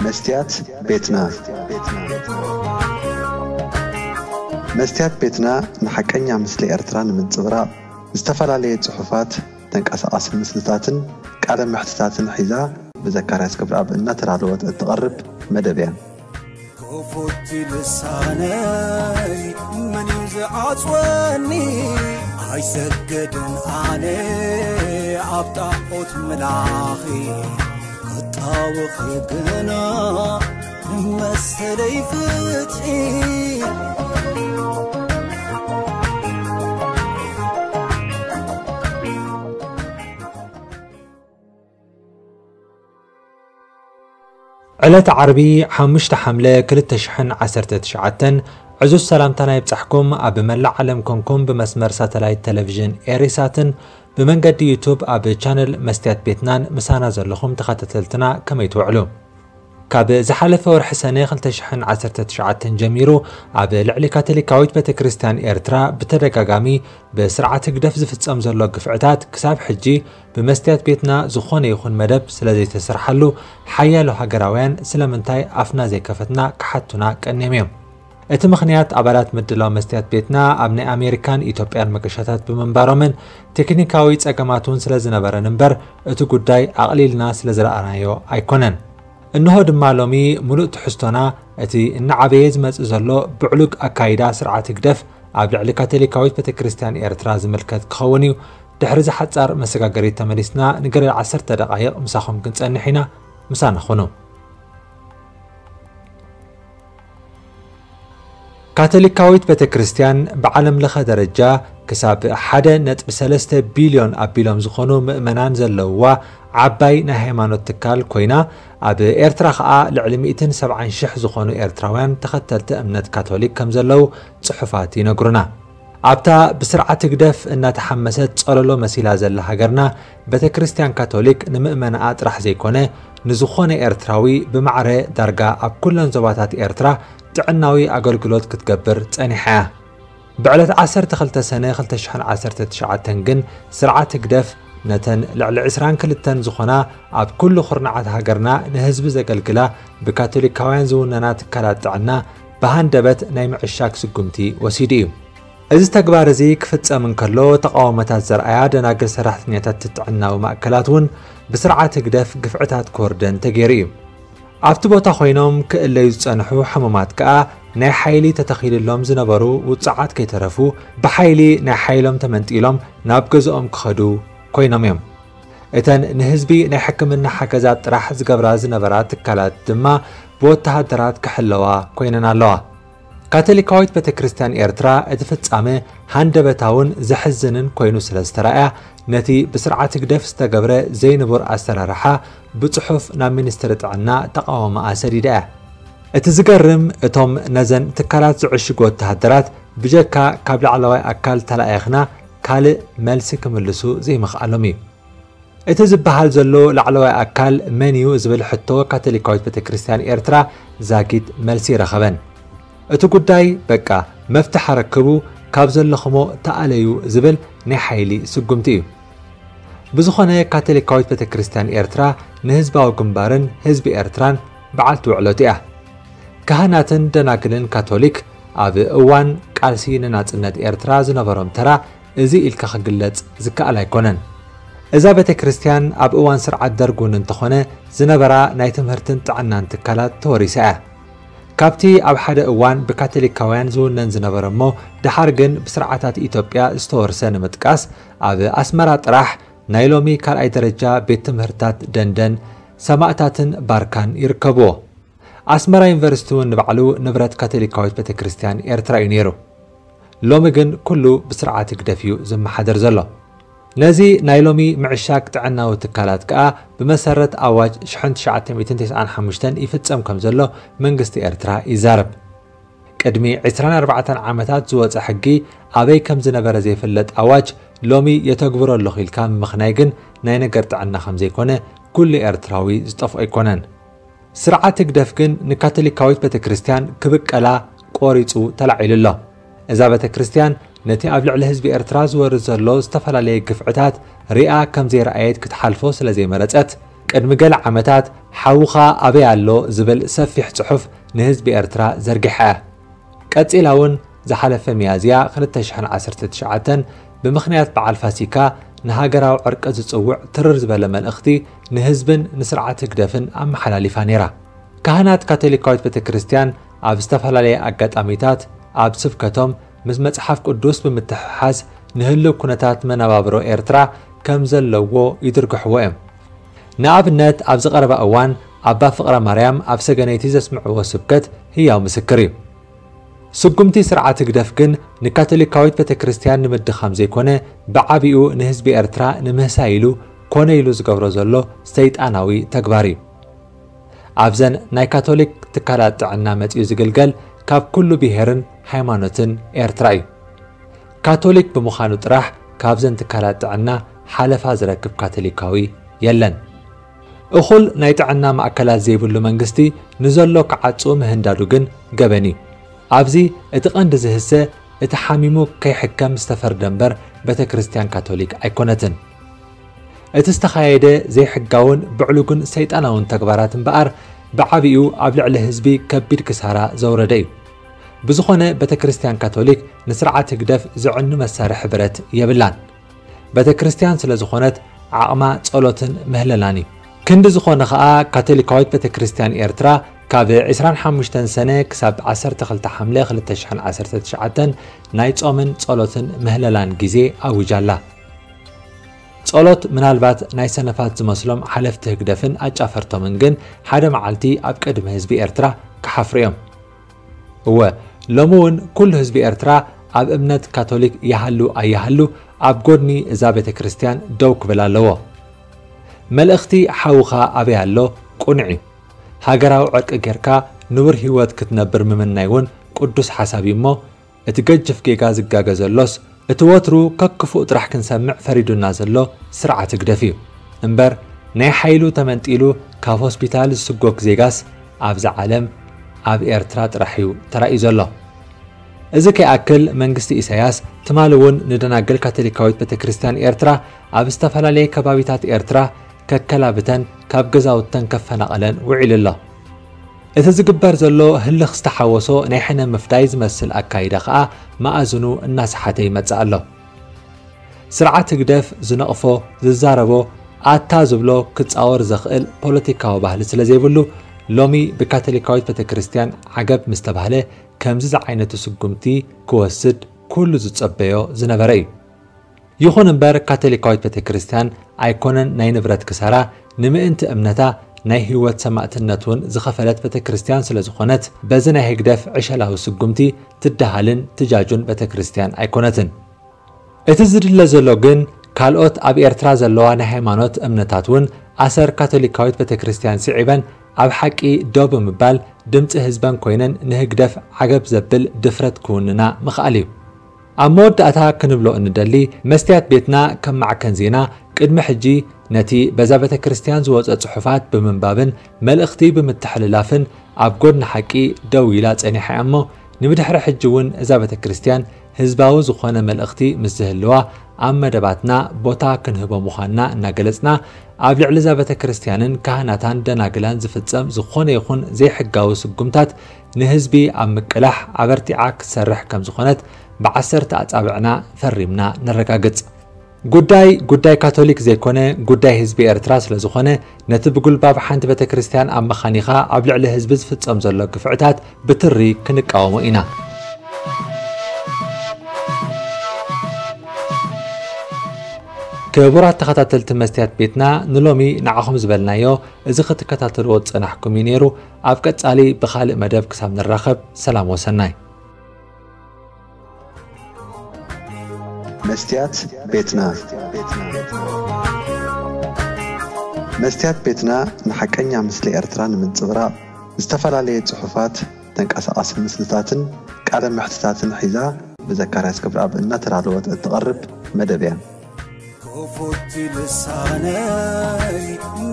መስትያት ቤትና። መስትያት ቤትና ንሓቀኛ ምስሊ ኤርትራ ንምንጽብራቕ ዝተፈላለየ ጽሑፋት፣ ተንቀሳቓሲ ምስልታትን ቃለ መሕትታትን ሒዛ ብዘካርያስ ገብረኣብ እናተዳለወት እትቐርብ መደብ እያ። ክፉት ልሳነይ መን እዩ ዝዓጽወኒ? ኣይሰግድን ኣነ ኣብ ጣዖት ምላኺ፣ ክጣወኺ ግና መሰለይ ፍትሒ። ዕለት ዓርቢ ሓሙሽተ ሓምለ ክልተ ሽሕን ዓሰርተ ትሽዓተን ዕዙዝ ሰላምታና ይብጻሕኩም። ኣብ መላእ ዓለም ኮንኩም ብመስመር ሳተላይት ቴሌቪዥን ኤሪሳትን ብመንገዲ ዩቱብ ኣብ ቻነል መስትያት ቤትናን ምሳና ዘለኹም ተኸታተልትና ከመይ ትውዕሉ? ካብ ዝሓለፈ ወርሒ ሰነ ክልተ ሽሕን ዓሰርተ ትሽዓተን ጀሚሩ ኣብ ልዕሊ ካቶሊካዊት ቤተክርስትያን ኤርትራ ብተደጋጋሚ ብስርዓት ህግደፍ ዝፍጸም ዘሎ ግፍዕታት ክሳብ ሕጂ ብመስትያት ቤትና ዝኾነ ይኹን መደብ ስለ ዘይተሰርሓሉ ሓያሎ ሃገራውያን ስለምንታይ ኣፍና ዘይከፈትና ክሓቱና ቀንዮም እዮም። እቲ ምኽንያት ኣባላት ምድላው መስትያት ቤትና ኣብ ናይ ኣሜሪካን ኢትዮጵያን መገሻታት ብምንባሮምን ቴክኒካዊ ጸገማት እውን ስለ ዝነበረን እምበር እቲ ጉዳይ ኣቕሊልና ስለ ዝረኣናዮ ኣይኮነን። እንሆ ድማ ሎሚ ምሉእ ትሕዝቶና እቲ እናዓበየ ዝመጽእ ዘሎ ብዕሉግ ኣካይዳ ስርዓት ህግደፍ ኣብ ልዕሊ ካቶሊካዊት ቤተክርስትያን ኤርትራ ዝምልከት ክኸውን እዩ። ድሕሪ ዝሓጻር መሰጋገሪት ተመሊስና ንገለ ዓሰርተ ደቓይቕ ምሳኹም ክንጸንሕ ኢና። ምሳና ኹኑ። ካቶሊካዊት ቤተክርስትያን ብዓለም ለኸ ደረጃ ክሳብ ሓደ ነጥቢ ሰለስተ ቢልዮን ኣቢሎም ዝኾኑ ምእመናን ዘለውዋ ዓባይ ናይ ሃይማኖት ትካል ኮይና፣ ኣብ ኤርትራ ኸኣ ልዕሊ ሚእትን ሰብዓን ሽሕ ዝኾኑ ኤርትራውያን ተኸተልቲ እምነት ካቶሊክ ከም ዘለዉ ጽሑፋት ይነግሩና። ኣብታ ብስርዓት ህግደፍ እናተሓመሰት ጸለሎ መሲላ ዘላ ሃገርና፣ ቤተክርስትያን ካቶሊክ ንምእመናኣ ጥራሕ ዘይኮነ፣ ንዝኾነ ኤርትራዊ ብማዕረ ዳርጋ ኣብ ኩለን ዞባታት ኤርትራ ጥዕናዊ ኣገልግሎት ክትገብር ጸኒሓ እያ። ብዕለት ዓሰርተ ክልተ ሰነ ክልተ ሽሕን ዓሰርተ ትሽዓተን ግን ስርዓት ህግደፍ ነተን ልዕሊ ዕስራን ክልተን ዝኾና ኣብ ኩሉ ኩርናዓት ሃገርና ንህዝቢ ዘገልግላ ብካቶሊካውያን ዝውነና ትካላት ጥዕና ብሃንደበት ናይ ምዕሻግ ስጉምቲ ወሲዱ እዩ። እዚ ተግባር እዚ ክፍጸም እንከሎ ተቓውሞታት ዘርኣያ ደናግል ሰራሕተኛታት ጥዕናዊ ማእከላት እውን ብስርዓት ህግደፍ ግፍዕታት ክወርደን ተገይሩ እዩ። ኣብቲ ቦታ ኮይኖም ክእለዩ ዝጸንሑ ሕሙማት ከኣ ናይ ሓይሊ ተተኺልሎም ዝነበሩ ውጹዓት ከይተረፉ ብሓይሊ ናይ ሓይሎም ተመንጢሎም ናብ ገዝኦም ክኸዱ ኮይኖም እዮም። እተን ንህዝቢ ናይ ሕክምና ሓገዛት ጥራሕ ዝገብራ ዝነበራ ትካላት ድማ ብወተሃደራት ክሕለዋ ኮይነን ኣለዋ። ካቶሊካዊት ቤተክርስትያን ኤርትራ እቲ ፍጻመ ሃንደበታውን ዘሕዝንን ኮይኑ ስለ ዝተራእያ፣ ነቲ ብስርዓት ህግደፍ ዝተገብረ ዘይንቡር ኣሰራርሓ ብጽሑፍ ናብ ሚኒስትሪ ጥዕና ተቓውሞኣ ሰዲዳ እያ። እቲ ዝገርም፣ እቶም ነዘን ትካላት ዝዕሽጉ ወተሃደራት ብጀካ ካብ ላዕለዋይ ኣካል ተላኢኽና ካልእ መልሲ ክምልሱ ዘይምኽኣሎም እዩ። እቲ ዝበሃል ዘሎ ላዕለዋይ ኣካል መን እዩ ዝብል ሕቶ ካቶሊካዊት ቤተክርስትያን ኤርትራ ዛጊት መልሲ ይረኸበን። እቲ ጉዳይ በቃ መፍትሕ ኣረክቡ፣ ካብ ዘለኹሞ ተኣለዩ ዝብል ናይ ሓይሊ ስጉምቲ እዩ። ብዝኾነ ካቶሊካዊት ቤተክርስትያን ኤርትራ ንህዝባዊ ግንባርን ህዝቢ ኤርትራን በዓልቲ ውዕሎት እያ። ካህናትን ደናግልን ካቶሊክ ኣብ እዋን ቃልሲ ንናጽነት ኤርትራ ዝነበሮም ተራ እዚ ኢልካ ክግለጽ ዝከኣል ኣይኮነን። እዛ ቤተክርስትያን ኣብ እዋን ስርዓት ደርግ እውን እንተኾነ ዝነበራ ናይ ትምህርትን ጥዕናን ትካላት ተወሪሳ እያ። ካብቲ ኣብ ሓደ እዋን ብካቶሊካውያን ዝውነን ዝነበረ እሞ ደሓር ግን ብስርዓታት ኢትዮጵያ ዝተወርሰ ንምጥቃስ፣ ኣብ ኣስመራ ጥራሕ ናይ ሎሚ ካልኣይ ደረጃ ቤት ትምህርትታት ደንደን፣ ሰማእታትን ባርካን ይርከብዎ። ኣስመራ ዩኒቨርሲቲ እውን ንባዕሉ ንብረት ካቶሊካዊት ቤተክርስትያን ኤርትራ እዩ ነይሩ። ሎሚ ግን ኩሉ ብስርዓት ህግደፍ እዩ ዝመሓደር ዘሎ። ነዚ ናይ ሎሚ ምዕሻግ ጥዕናዊ ትካላት ከኣ ብመሰረት ኣዋጅ ሽሕን ትሽዓተ ሚእትን ተስዓን ሓሙሽተን ይፍጸም ከም ዘሎ መንግስቲ ኤርትራ ይዛረብ። ቅድሚ ዕስራን ኣርባዕተን ዓመታት ዝወጸ ሕጊ ኣበይ ከም ዝነበረ ዘይፍለጥ ኣዋጅ ሎሚ የተግብሮ ኣለኹ ኢልካ ምምኽናይ ግን ናይ ነገር ጥዕና ከም ዘይኮነ ኩሉ ኤርትራዊ ዝጠፍኦ ኣይኮነን። ስርዓት ህግደፍ ግን ንካቶሊካዊት ቤተክርስትያን ክብቀላ ቆሪጹ ተላዒሉ ኣሎ። እዛ ቤተክርስትያን ነቲ ኣብ ልዕሊ ህዝቢ ኤርትራ ዝወርድ ዘሎ ዝተፈላለየ ግፍዕታት ሪኣ ከም ዘይረኣየት ክትሓልፎ ስለ ዘይመረጸት፣ ቅድሚ ገለ ዓመታት ሓውኻ ኣበይ ኣሎ ዝብል ሰፊሕ ጽሑፍ ንህዝቢ ኤርትራ ዘርጊሓ እያ። ቀጺላ እውን ዝሓለፈ ሚያዝያ ክልተ ሽሕን ዓሰርተ ትሽዓተን ብምኽንያት በዓል ፋሲካ ንሃገራዊ ዕርቂ ዝጽውዕ ትርር ዝበለ መልእኽቲ ንህዝብን ንስርዓት ህግደፍን ኣመሓላሊፋ ነይራ። ካህናት ካቶሊካዊት ቤተ ክርስቲያን ኣብ ዝተፈላለየ ኣጋጣሚታት ኣብ ስብከቶም ምስ መጽሓፍ ቅዱስ ብምትሕሓዝ ንህልው ኩነታት መነባብሮ ኤርትራ ከም ዘለዎ ይድርግሕዎ እዮም። ንኣብነት ኣብዚ ቀረባ እዋን ኣባ ፍቕረ ማርያም ኣብ ሰገነይቲ ዘስምዕዎ ስብከት ህያው ምስክር እዩ። ስጉምቲ ስርዓት ህግደፍ ግን ንካቶሊካዊት ቤተ ክርስቲያን ንምድኻም ዘይኮነ ብዓቢኡ ንህዝቢ ኤርትራ ንምህሳይ ኢሉ ኮነ ኢሉ ዝገብሮ ዘሎ ሰይጣናዊ ተግባር እዩ። ኣብዘን ናይ ካቶሊክ ትካላት ጥዕና መጺኡ ዝግልገል ካብ ኩሉ ብሄርን ሃይማኖትን ኤርትራ እዩ። ካቶሊክ ብምዃኑ ጥራሕ ካብዘን ትካላት ጥዕና ሓለፋ ዝረክብ ካቶሊካዊ የለን። እኹል ናይ ጥዕና ማእከላት ዘይብሉ መንግስቲ ንዘሎ ክዓጹ ምህንዳዱ ግን ገበን እዩ። ኣብዚ እቲ ቀንዲ ዝህሰ እቲ ሓሚሙ ከይሕከም ዝተፈርደ እምበር ቤተ ክርስቲያን ካቶሊክ ኣይኮነትን። እቲ ዝተኻየደ ዘይሕጋውን ብዕሉግን ሰይጣናውን ተግባራት እምበኣር ብዓቢኡ ኣብ ልዕሊ ህዝቢ ከቢድ ክሳራ ዘውረደ እዩ። ብዝኾነ ቤተ ክርስቲያን ካቶሊክ ንስርዓት ህግደፍ ዝዕኑ መሳርሒ ብረት የብላን። ቤተ ክርስቲያን ስለ ዝኾነት ዓቕማ ጸሎትን ምህለላን እዩ። ክንዲ ዝኾነ ኸኣ ካቶሊካዊት ቤተ ክርስቲያን ኤርትራ ካብ ዕስራን ሓሙሽተን ሰነ ክሳብ ዓሰርተ ክልተ ሓምለ ክልተ ሽሕን ዓሰርተ ትሽዓተን ናይ ጾምን ጸሎትን ምህለላን ግዜ ኣዊጃ ኣላ። ጸሎት ምናልባት ናይ ሰነፋት ዝመስሎም ሓለፍቲ ህግደፍን ኣጫፈርቶምን ግን ሓደ መዓልቲ ኣብ ቅድሚ ህዝቢ ኤርትራ ክሓፍሩ እዮም። እወ፣ ሎሚ እውን ኩሉ ህዝቢ ኤርትራ ኣብ እምነት ካቶሊክ ይሃሉ ኣይሃሉ ኣብ ጎድኒ እዛ ቤተ ክርስቲያን ደው ክብል ኣለዎ። መልእኽቲ ሓውኻ ኣበይ ኣሎ ቁኑዕ እዩ። ሃገራዊ ዕርቂ ጌርካ ንቡር ህይወት ክትነብር ምምናይ እውን ቅዱስ ሓሳብ እዩ እሞ፣ እቲ ገጅፍ ጌጋ ዝጋገ ዘሎስ እቲ ወትሩ ከክፉእ ጥራሕ ክንሰምዕ ፈሪዱና ዘሎ ስርዓት ህግደፍ እዩ። እምበር ናይ ሓይሉ ተመንጢሉ ካብ ሆስፒታል ዝስጎግ ዜጋስ ኣብዛ ዓለም ኣብ ኤርትራ ጥራሕ እዩ ተራእዩ ዘሎ። እዚ ከይኣክል መንግስቲ ኢሳያስ ትማሊ እውን ንደናግል ካቶሊካዊት ቤተ ክርስቲያን ኤርትራ ኣብ ዝተፈላለየ ከባቢታት ኤርትራ ከከላብተን ካብ ገዛውተን ከፈናቐለን ውዒሉ ኣሎ። እቲ ዝግበር ዘሎ ህልኽ ዝተሓወሶ ናይ ሕነ ምፍዳይ ዝመስል ኣካይዳ ኸኣ መኣዝኑ እናሰሓተ ይመጽእ ኣሎ። ስርዓት ህግደፍ ዝነቕፎ፣ ዝዛረቦ፣ ኣታ ዝብሎ ክጻወር ዘኽእል ፖለቲካዊ ባህሊ ስለ ዘይብሉ፣ ሎሚ ብካቶሊካዊት ቤተ ክርስቲያን ዓገብ ምስ ተባህለ፣ ከምዚ ዝዓይነቱ ስጉምቲ ክወስድ ኩሉ ዝጸበዮ ዝነበረ እዩ። ይኹን እምበር፣ ካቶሊካዊት ቤተ ክርስቲያን ኣይኮነን ናይ ንብረት ክሳራ፣ ንምእንቲ እምነታ ናይ ህይወት ሰማእትነት እውን ዝኸፈለት ቤተ ክርስቲያን ስለ ዝኾነት፣ በዚ ናይ ህግደፍ ዕሸላዊ ስጉምቲ ትደሃልን ትጃጁን ቤተ ክርስቲያን ኣይኮነትን። እቲ ዝድለ ዘሎ ግን፣ ካልኦት ኣብ ኤርትራ ዘለዋ ናይ ሃይማኖት እምነታት እውን ኣሰር ካቶሊካዊት ቤተ ክርስቲያን ስዒበን ኣብ ሓቂ ደው ብምባል ድምጺ ህዝበን ኮይነን ንህግደፍ ዓገብ ዘብል ድፍረት ክውንና ምኽኣል እዩ። ኣብ መወዳእታ ክንብሎ እንደሊ፣ መስትያት ቤትና ከም ማዕከን ዜና ቅድሚ ሕጂ ነቲ በዛ ቤተ ክርስቲያን ዝወጸ ጽሑፋት ብምንባብን መልእኽቲ ብምትሕልላፍን ኣብ ጎድኒ ሓቂ ደው ኢላ ጸኒሓ እያ እሞ፣ ንብድሕሪ ሕጂ እውን እዛ ቤተ ክርስቲያን ህዝባዊ ዝኾነ መልእኽቲ ምስ ዝህልዋ ኣብ መደባትና ቦታ ክንህቦ ምዃንና እናገለጽና፣ ኣብ ልዕሊ እዛ ቤተ ክርስቲያንን ካህናታን ደናግላን ዝፍጸም ዝኾነ ይኹን ዘይሕጋዊ ስጉምታት ንህዝቢ ኣብ ምቅላሕ ኣበርቲዓ ክትሰርሕ ከም ዝኾነት ብዓሰርተ ኣጻብዕና ፈሪምና ነረጋግጽ። ጉዳይ፣ ጉዳይ ካቶሊክ ዘይኮነ፣ ጉዳይ ህዝቢ ኤርትራ ስለ ዝኾነ፣ ነቲ ብጉልባብ ሓንቲ ቤተ ክርስቲያን ኣመኻኒኻ ኣብ ልዕሊ ህዝቢ ዝፍጸም ዘሎ ግፍዕታት ብትሪ ክንቃወሞ ኢና። ክቡራት ተኸታተልቲ መስትያት ቤትና፣ ንሎሚ ንዓኹም ዝበልናዮ እዚ ክትከታተልዎ ዝጸናሕኩም እዩ ነይሩ። ኣብ ቀጻሊ ብኻልእ መደብ ክሳብ ንራኸብ፣ ሰላም ወሰናይ። መስትያት ቤትና። መስትያት ቤትና ንሓቀኛ ምስሊ ኤርትራ ንምንጽብራቕ፣ ዝተፈላለየ ጽሑፋት፣ ተንቀሳቓሲ ምስልታትን ቃለ መሕትታትን ሒዛ ብዘካርያስ ክብረኣብ እናተዳለወት እትቐርብ መደብ እያ። ክፉት ልሳነይ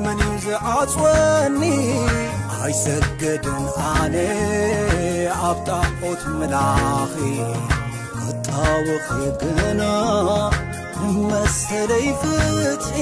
መን እዩ ዝዓጽወኒ? ኣይሰግድን ኣነ ኣብ ጣዖት ምላኺ። ክጣወኺ ግና ንመሰለይ ፍትሒ